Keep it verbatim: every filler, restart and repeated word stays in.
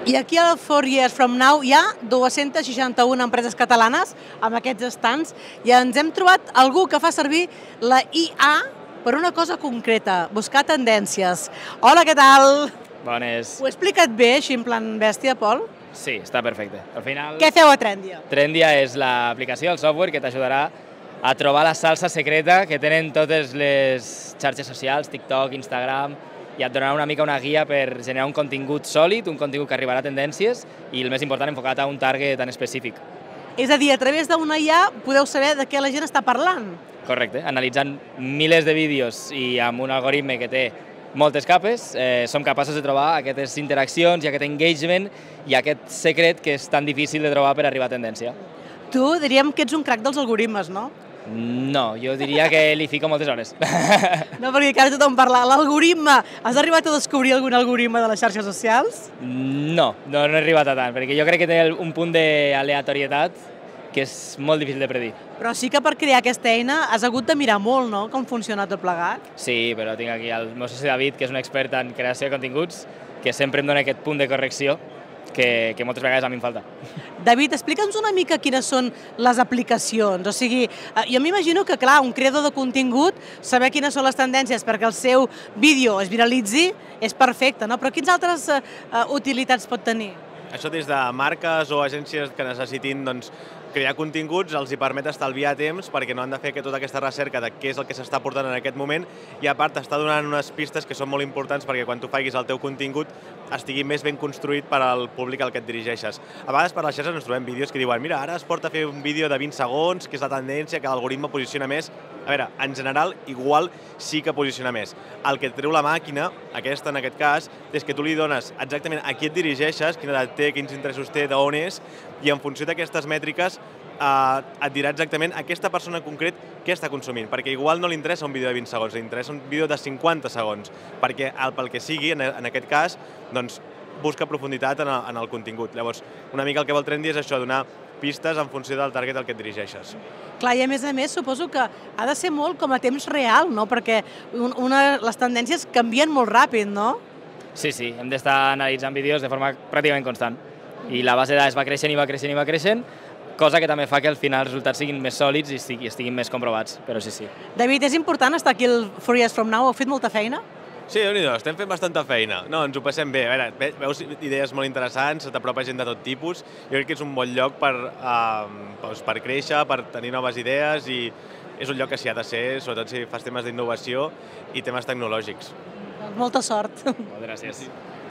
I aquí al Four Years From Now hi ha dues-centes seixanta-una empreses catalanes amb aquests estants i ens hem trobat algú que fa servir la I A per una cosa concreta, buscar tendències. Hola, què tal? Bones. Ho he explicat bé, així en plan bèstia, Pol? Sí, està perfecte. Al final... Què feu a Trendia? Trendia és l'aplicació, el software que t'ajudarà a trobar la salsa secreta que tenen totes les xarxes socials, TikTok, Instagram, i et donarà una mica una guia per generar un contingut sòlid, un contingut que arribarà a tendències i, el més important, enfocat a un target tan específic. És a dir, a través d'una I A podeu saber de què la gent està parlant. Correcte. Analitzant milers de vídeos i amb un algoritme que té moltes capes, eh, som capaços de trobar aquestes interaccions i aquest engagement i aquest secret que és tan difícil de trobar per arribar a tendència. Tu diríem que ets un crac dels algoritmes, no? No, jo diria que li fico moltes hores. No, perquè ara tothom parla. L'algoritme, has arribat a descobrir algun algoritme de les xarxes socials? No, no, no he arribat a tant, perquè jo crec que té un punt d'aleatorietat que és molt difícil de predir. Però sí que per crear aquesta eina has hagut de mirar molt, no?, com funciona tot plegat. Sí, però tinc aquí el meu soci David, que és un expert en creació de continguts, que sempre em dona aquest punt de correcció que, que moltes vegades a mi em falta. David, explica'ns una mica quines són les aplicacions. O sigui, jo m'imagino que, clar, un creador de contingut, saber quines són les tendències perquè el seu vídeo es viralitzi és perfecte, no? Però quines altres uh, utilitats pot tenir? Això des de marques o agències que necessitin doncs, crear continguts els hi permet estalviar temps perquè no han de fer tota aquesta recerca de què és el que s'està portant en aquest moment i a part està donant unes pistes que són molt importants perquè quan tu facis el teu contingut estigui més ben construït per al públic al que et dirigeixes. A vegades per les xarxes ens trobem vídeos que diuen mira, ara es porta a fer un vídeo de vint segons, que és la tendència, que l'algoritme posiciona més. A veure, en general, igual sí que posiciona més. El que et treu la màquina, aquesta en aquest cas, és que tu li dones exactament a qui et dirigeixes, quina edat té, quins interessos té, d'on és, i en funció d'aquestes mètriques eh, et dirà exactament a aquesta persona en concret què està consumint, perquè igual no li interessa un vídeo de vint segons, li interessa un vídeo de cinquanta segons, perquè el, pel que sigui, en, en aquest cas, doncs, busca profunditat en el, en el contingut. Llavors, una mica el que vol Trendy és això, donar pistes en funció del target al que et dirigeixes. Clar, i a més a més suposo que ha de ser molt com a temps real, no? Perquè una, les tendències canvien molt ràpid, no? Sí, sí, hem d'estar analitzant vídeos de forma pràcticament constant. I la base de dades va creixent i va creixent i va creixent, cosa que també fa que al final els resultats siguin més sòlids i estiguin més comprovats, però sí, sí. David, és important estar aquí al Four Years From Now? Heu fet molta feina? Sí, déu-n'hi-do, estem fent bastanta feina. No, ens ho passem bé. A veure, veus idees molt interessants, t'apropa gent de tot tipus. Jo crec que és un bon lloc per, uh, doncs per créixer, per tenir noves idees i és un lloc que s'hi ha de ser, sobretot si fas temes d'innovació i temes tecnològics. Molta sort. Moltes gràcies.